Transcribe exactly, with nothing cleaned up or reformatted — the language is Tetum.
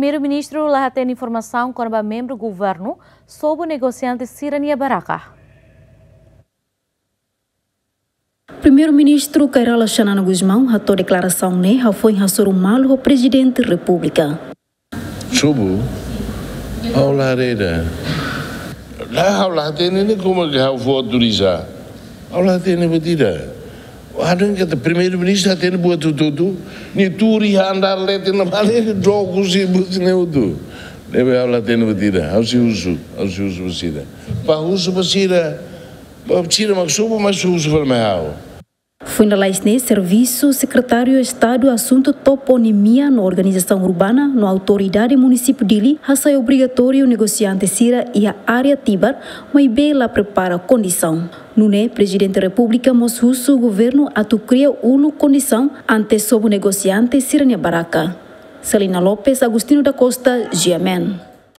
Primeiru-Ministru la hatene informasaun kona-ba membru governu sobu negosiante sira-nia barraka. Primeiru-Ministru Kay Rala Xanana Gusmão hato'o deklarasaun ne'e hafoin hasoru malu ho Prezidente Repúblika. Sobu, ha'u la haree ida. La, ha'u la hatene ne'e, komu ke ha'u fó autoriza. Ha'u la hatene buat ida. Ha'u dehan katak Primeiru-Ministru hatene buat hotu-hotu. Nia tuur iha andár leten ne'ebá, nia dook husi buat ne'e hotu. Ne'ebé ha'u la hatene buat ida. Ha'u sei husu, ha'u sei husu ba sira. Ba husu ba sira. Ba sira mak sobu, mas husu fali mai ha'u. Foin lalais ne'e, Servisu Sekretáriu Estadu Asuntu Toponimia no Organizasaun Urbana no Autoridade Munisípiu Dili hasai obrigatóriu negosiante sira iha área Tibar, maibé la prepara kondisaun. Nune'e, Prezidente Repúblika mós husu governu atu kria uluk kondisaun ante sobu negosiante sira-nia barraka. Selina Lopes, Agostinho da Costa, G M N.